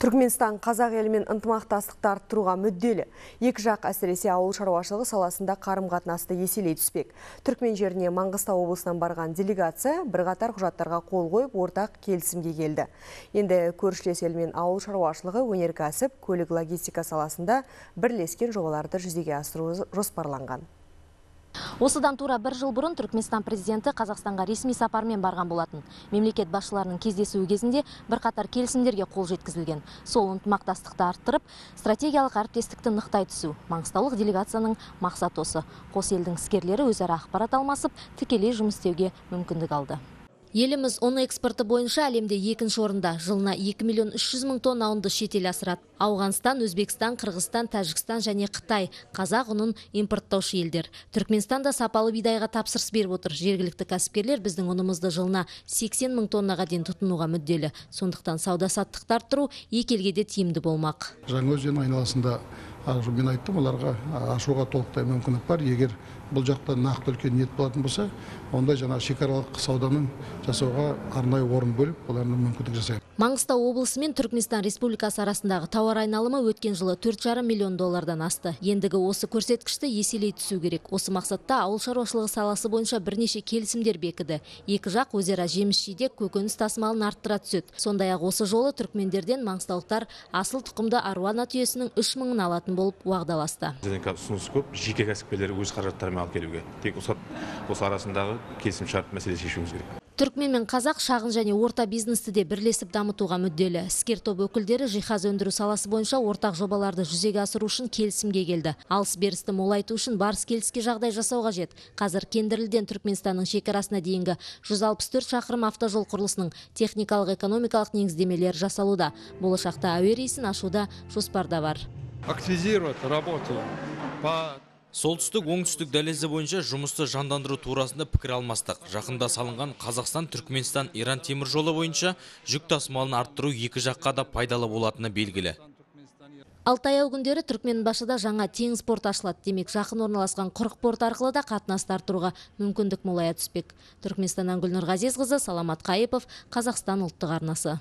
Түркменстан қазақ елімен ынтымақтастықты арттыруға мүдделі. Екі жақ әсіресе ауыл шаруашылығы саласында қарым-қатынасты еселей түспек. Түркмен жеріне Маңғыстау облысынан барған делегация бірқатар құжаттарға қол қойып, ортақ келісімге келді. Енді көршілес елмен ауыл шаруашылығы, өнеркәсіп, көлік логистика саласында бірлескен жобаларды жүзеге асыру жоспарланған. Осыдан тура бір жыл бұрын Түркменстан президенті Қазақстанға ресми сапармен барған болатын. Мемлекет басшыларының кездесуі кезінде бірқатар келісімдерге қол жеткізілген. Сол ынтымақтастықты арттырып, стратегиялық әріптестікті нықтай түсу. Маңғыстаулық делегацияның мақсаты осы. Қос елдің іскерлері өзара ақпарат алмасып, тікелей жұмыс істеуге мүмкіндік алды. Еліміз ұн экспорты бойынша әлемде екінші орында. Жылына 2 миллион 300 мың тонна ұнды шетел асырады. Ауғанстан, Өзбекстан, Қырғызстан, Тәжікстан және Қытай қазақ ұнын импорттаушы елдер. Түркменстан да сапалы бидайға тапсырыс беріп отыр. Жергілікті кәсіпкерлер біздің ұнымызды жылына 80 мың тоннаға дейін тұтынуға мүдделі. Сондықтан сауда-саттықты арттыру екі елге де тиімді болмақ. Жаңаөзен айналасында мен айттым, оларға ашуға толықтай мүмкіндік бар. Егер бұл жақта нақты үлкен ниет болатын болса, онда жаңа шекаралық сауданың жасауға арнайы орын бөліп, олардың мүмкіндік жасайды. Маңғыстау облысы мен Түркменстан Республикасы арасындағы тауар айналымы өткен жылы 4,5 миллион доллардан асты. Ендігі осы көрсеткішті еселей түсу керек. Осы мақсатта ауыл шаруашылығы саласы бойынша бірнеше келісімдер бекіді. Екі жақ өзара жеміс-жидек, көкөніс тасымалын арттыра түседі. Сондай-ақ осы жолы түркмендерден маңғыстаулықтар асыл тұқымды аруана түйесінің 3 мыңын алатын болып уағдаласты. Ұсыныс көп, жеке кәсіпкерлер өз қаражаттарымен алып келуге. Тек осы арасындағы келісімшарт мәселе шешуіміз керек. Түркмен мен қазақ шағын және орта бизнесті де бірлесіп дамытуға мүдделі. Іскер топ өкілдері жиһаз өндіру саласы бойынша ортақ жобаларды жүзеге асыру үшін келісімге келді. Алыс-берісті молайту үшін барыс келіске жағдай жасау қажет. Қазір Кендірліден Түркменстанның шекарасына дейінгі 164 шақырым автожол құрылысының техникалық экономикалық негіздемелері жасалуда. Болашақта әуе рейсін ашуда жоспарда бар. Активизировать работу по Солтүстік-оңтүстік дәлізі бойынша жұмысты жандандыру турасында пікір алмастық. Жақында салынған Қазақстан-Түркменстан-Иран теміржолы бойынша жүк тасымалын арттыру екі жаққа да пайдалы болатыны белгілі. Алтай күндері Түркменбашыда жаңа теңіз порты ашылады. Демек, жақын орналасқан құрық порты арқылы да қатынасты арттыруға мүмкіндік молая түспек. Түркменстаннан Гүлнұр Ғазизқызы, Саламат Қайыпов, Қазақстан ұлттық арнасы.